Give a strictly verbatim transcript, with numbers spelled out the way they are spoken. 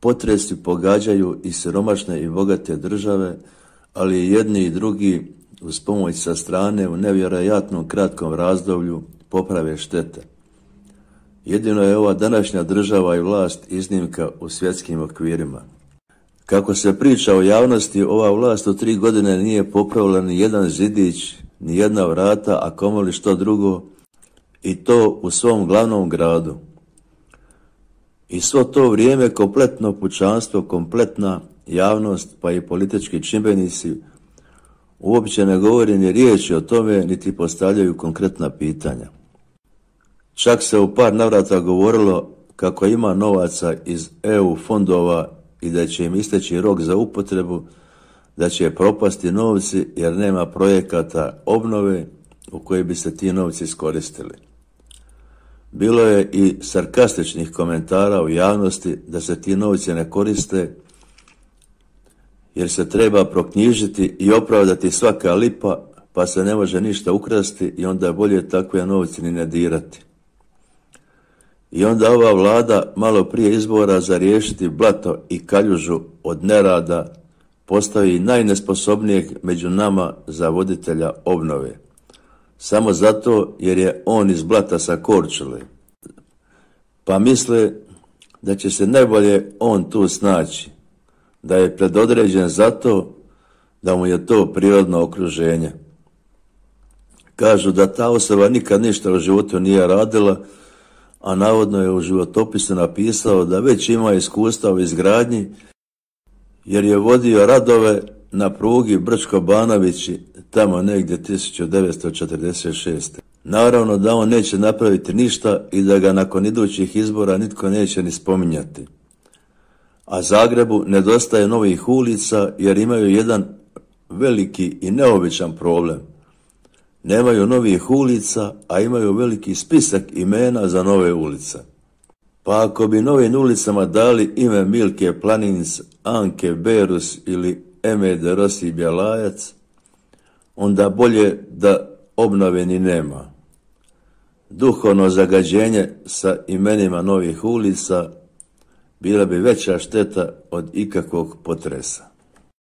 Potresi pogađaju i siromašne i bogate države, ali i jedni i drugi uz pomoć sa strane u nevjerojatnom kratkom razdoblju poprave štete. Jedino je ova današnja država i vlast iznimka u svjetskim okvirima. Kako se priča o javnosti, ova vlast u tri godine nije popravila ni jedan zidić, ni jedna vrata, a kamoli što drugo, i to u svom glavnom gradu. I svo to vrijeme kompletno pučanstvo, kompletna javnost, pa i politički čimbenici uopće ne govori ni riječi o tome, niti postavljaju konkretna pitanja. Čak se u par navrata govorilo kako ima novaca iz E U fondova i da će im isteći rok za upotrebu, da će propasti novci jer nema projekata obnove u koji bi se ti novci iskoristili. Bilo je i sarkastičnih komentara u javnosti da se ti novci ne koriste jer se treba proknjižiti i opravdati svaka lipa, pa se ne može ništa ukrasti i onda je bolje takve novci ni ne dirati. I onda ova vlada malo prije izbora za riješiti blato i kaljužu od nerada postavi najnesposobnijeg među nama za voditelja obnove. Samo zato jer je on iz blata sa Korčule. Pa misle da će se najbolje on tu snaći, da je predodređen zato da mu je to prirodno okruženje. Kažu da ta osoba nikad ništa u životu nije radila, a navodno je u životopisu napisao da već ima iskustva u izgradnji jer je vodio radove na prugi Brčko-Banovići tamo negdje tisuću devetsto četrdeset šeste. Naravno da on neće napraviti ništa i da ga nakon idućih izbora nitko neće ni spominjati. A Zagrebu nedostaje novih ulica jer imaju jedan veliki i neobičan problem. Nemaju novih ulica, a imaju veliki spisak imena za nove ulice. Pa ako bi novim ulicama dali ime Milke Planinc, Anke Berus ili Eme de Rossi Bjelajac, onda bolje da obnove ni nema. Duhovno zagađenje sa imenima novih ulica bila bi veća šteta od ikakvog potresa.